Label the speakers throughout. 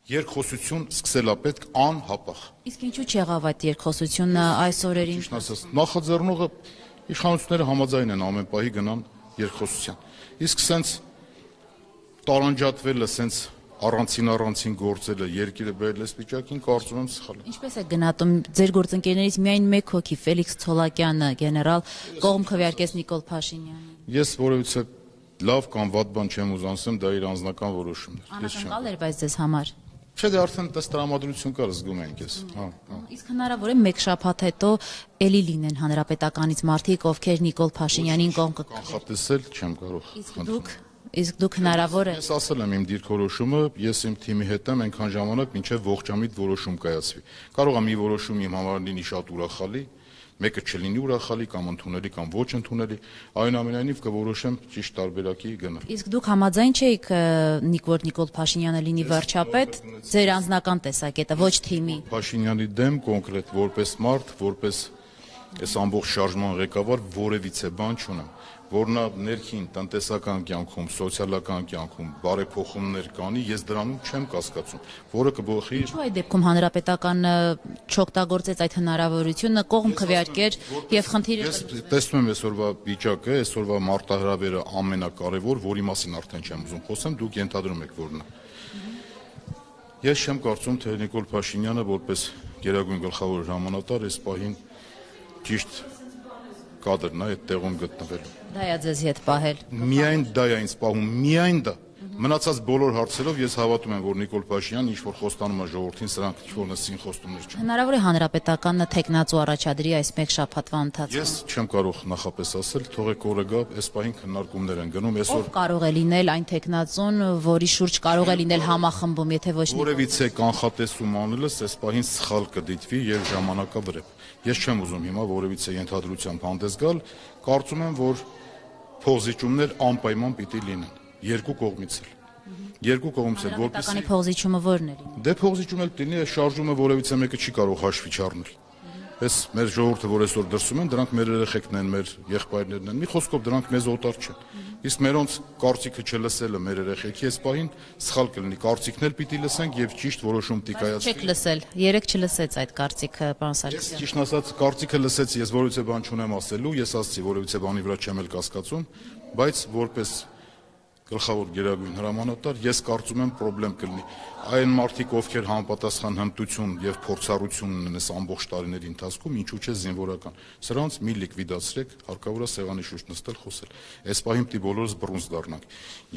Speaker 1: երկխոսություն սկսելա պետք անհապաղ։
Speaker 2: Իսկ ինչու չեղավ այդ երկխոսությունը այս օրերին։
Speaker 1: Ճիշտ ասած, նախաձեռնողը իշխանությունները համաձայն են ամեն պահի գնան երկխոսության։ Իսկ սենց տարանջատվելը, սենց առանցին գործելը երկիրը բերել այս վիճակին, կարծում եմ սխալ է։
Speaker 2: Ինչպես է գնահատում ձեր գործընկերներից միայն մեկ հոգի Ֆելիքս Ցոլակյանը, գեներալ, կողմ քվեարկեց Նիկոլ Փաշինյանին։
Speaker 1: Ես որևիցե լավ կամ վատ բան չեմ ուզում ասեմ, դա իր անձնական որոշումն է։
Speaker 2: Անակնկալ էր բայց ձեզ համար։
Speaker 1: Չէ, դե արդեն դες տրամադրություն կար, զգում ենք ես։
Speaker 2: Իսկ հնարավոր է մեկ շաբաթ հետո էլի լինեն հանրապետականից մարդիկ, ովքեր Նիկոլ Փաշինյանին կողմ
Speaker 1: կանխատեսել չեմ կարող։
Speaker 2: Իսկ դուք հնարավոր է։
Speaker 1: Ես ասել եմ իմ դիրքորոշումը, ես իմ թիմի հետ եմ այնքան ժամանակ, մինչև ողջամիտ որոշում կայացվի։ Կարող է մի որոշում իմ համար լինի շատ ուրախալի, մեկը չլինի ուրախալի կամ ընդունելի կամ ոչ ընդունելի, այնուամենայնիվ կորոշեմ ճիշտ տարբերակի գնալ։
Speaker 2: Իսկ դուք համաձայն չէիք Նիկոլ Փաշինյանը լինի վարչապետ, ձեր անձնական տեսակետը, ոչ թիմի։
Speaker 1: Փաշինյանի դեմ կոնկրետ որպես մարդ, որպես այս ամբողջ շարժման ղեկավար որևիցե բան չունեմ, որ նա ներքին տնտեսական կյանքում, սոցիալական կյանքում բարեփոխումներ կանի, ես դրանում չեմ կասկածում, որը կբոխի։
Speaker 2: Ինչու այդ դեպքում հանրապետականը չօգտագործեց այդ հնարավորությունը, կողմ քվեարկեր եւ խնդիրը։
Speaker 1: Ես տեսնում եմ այսօրվա վիճակը, այսօրվա մարտահրավերը ամենակարևոր, որի մասին արդեն չեմ ուզում խոսեմ, դուք ենթադրում եք որն է։ Ես չեմ կարծում, թե Նիկոլ Փաշինյանը որպես գերագույն գլխավոր հրամանատար այս պահին ճիշտ կադրն է այդ տեղում գտնվելու։
Speaker 2: Դա է ձեզ հետ պահել։
Speaker 1: Միայն դա է ինձ պահում, միայն դա։ Մնացած բոլոր հարցերով ես հավատում եմ, որ Նիկոլ Փաշինյանն ինչ որ խոստանում է ժողովրդին, սրանք ինչ-որ նսին խոստումներ չեն։
Speaker 2: Հնարավոր է հանրապետականը թեկնածու առաջադրի այս մեկ շաբաթվա ընթացքում։
Speaker 1: Ես չեմ կարող նախապես ասել, թողեք օրը գա, այս պահին քննարկումներ են գնում, այսօր
Speaker 2: կարող է լինել այն թեկնածուն, որի շուրջ կարող է լինել համախմբում, եթե ոչ
Speaker 1: որևիցե կանխատեսում անելս այս պահին սխալ կդիտվի եւ ժամանակավրեպ։ Ես չեմ ուզում հիմա որևիցե ենթադրությամբ հանդես գալ, կարծում եմ, որ փոխզիջումներ անպայման պիտի լինեն երկու կողմից էլ։ Երկու կողմից էլ
Speaker 2: որպեսզի փոխզիջումը ո՞րն է լինի։
Speaker 1: Դե փոխզիջում էլ լինի, այս շարժումը որևիցե մեկը չի կարող հաշվի չառնել։ Այս մեր ժողովուրդը, որ այսօր դրսում են, դրանք մեր երեխեքն են, մեր եղբայրներն են։ Մի խոսքով դրանք մեզ օտար չեն։ Իսկ մերոնց կարծիքը չլսելը մեր երեխեքի այս պահին սխալ կլինի։ Կարծիքն էլ պիտի լսենք եւ ճիշտ որոշում պիտի կայացվի։
Speaker 2: Չեք լսել, երեք չլսեց այդ կարծիքը, պարոն Սարգսյան։
Speaker 1: Ճիշտ ասած, կարծիքը լսեցի, ես որևիցե բան չունեմ ասելու, ես ասացի, որևիցե բանի վրա չեմ էլ կասկածում, բայց որպես գլխավոր գերագույն հրամանատար ես կարծում եմ խնդրեմ կլինի այն մարդիկ ովքեր համապատասխան հմտություն եւ փորձառություն ունեն այս ամբողջ տարիների ընթացքում ինչու՞ չէ զինվորական սրանց մի լիկվիդացրեք հարկավոր է սեղանի շուրջ նստել խոսել այս պահին պիտի բոլորս բռունց դառնանք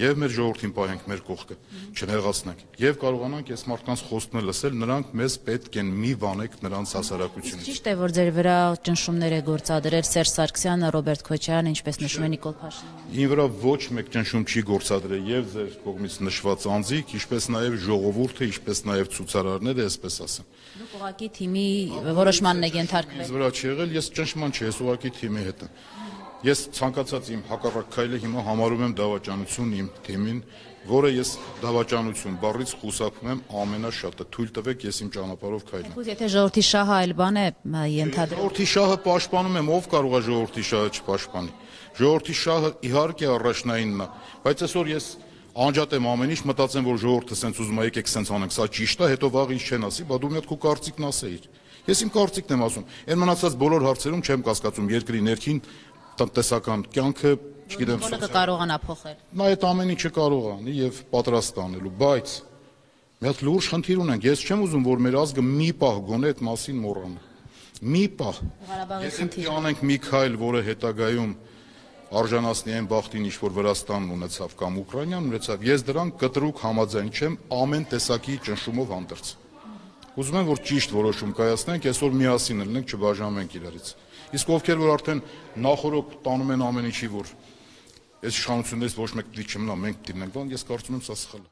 Speaker 1: եւ մեր ժողովրդին պահենք մեր կողքը չնեղացնենք եւ կարողանանք այս մարդկանց խոսքն լսել նրանք մեզ պետք են մի վանեք նրանց հասարակությունը
Speaker 2: ճիշտ է որ ձեր վրա ճնշումներ է գործադրել Սերժ Սարգսյանը Ռոբերտ Քոչարյանը ինչպես նշում է Նիկոլ Փաշինյանը
Speaker 1: Ին վրա ոչ մեկ ճնշում չի գործադրել եւ ձեր կողմից նշված անձիկ ինչպես նաեւ ժողովուրդը ինչպես նաեւ ցուցարարները այսպես ասեմ
Speaker 2: Դուք ուղղակի թիմի որոշմանն եք ենթարկվել
Speaker 1: Ինձ վրա չի եղել ես ճնշման չի ես ուղղակի թիմի հետ եմ Ես ցանկացած իմ հակառակ քայլը հիմա համարում եմ դավաճանություն իմ թիմին, որը ես դավաճանություն բառից խուսափում եմ ամենաշատը։ Թույլ տվեք ես իմ ճանապարհով քայլեմ։
Speaker 2: Իսկ եթե ժողովրդի շահը այլ բան է ենթադրում։
Speaker 1: Ժողովրդի շահը պաշտպանում եմ, ով կարող է ժողովրդի շահը չպաշտպանի։ Ժողովրդի շահը իհարկե առաջնայինն է, բայց այսօր ես անջատեմ ամեն ինչ, մտածեմ, որ ժողովուրդը սենց ուզում է եկեք սենց անենք, սա ճիշտ է, հետո վաղ ինչ չեն ասի, բա դու մի հատ քո կարծիքն ասեիր։ Ես իմ կարծիքն եմ ասում։ Այն մնացած բոլոր հարցերում չեմ կասկածում երկրի ներքին տնտեսական կյանքը, չգիտեմ,
Speaker 2: Բոլորը կարողանա փոխել։
Speaker 1: Նա այդ ամեն ինչը կարող է անի եւ պատրաստ անելու, բայց մի հատ լուրջ խնդիր ունենք։ Ես չեմ ուզում, որ մեր ազգը մի պահ գոնե այդ մասին մոռանա։ Մի պահ։ Եթե անենք մի քայլ, որը հետագայում արժանացնի այն բախտին, ինչ որ Վրաստանն ունեցավ կամ Ուկրաինան ունեցավ, ես դրան կտրուկ համաձայն չեմ ամեն տեսակի ճնշումով հանդերձ։ Ուզում եմ, որ ճիշտ որոշում կայացնենք, այսօր միասին լինենք, չբաժանվենք իրարից։ Իսկ ովքեր որ արդեն նախորոք տանում են ամեն ինչի, որ այս իշխանություններից ոչ մեկ դի չմնա, մենք դիմենք, բան, ես կարծում եմ սա սխալ է։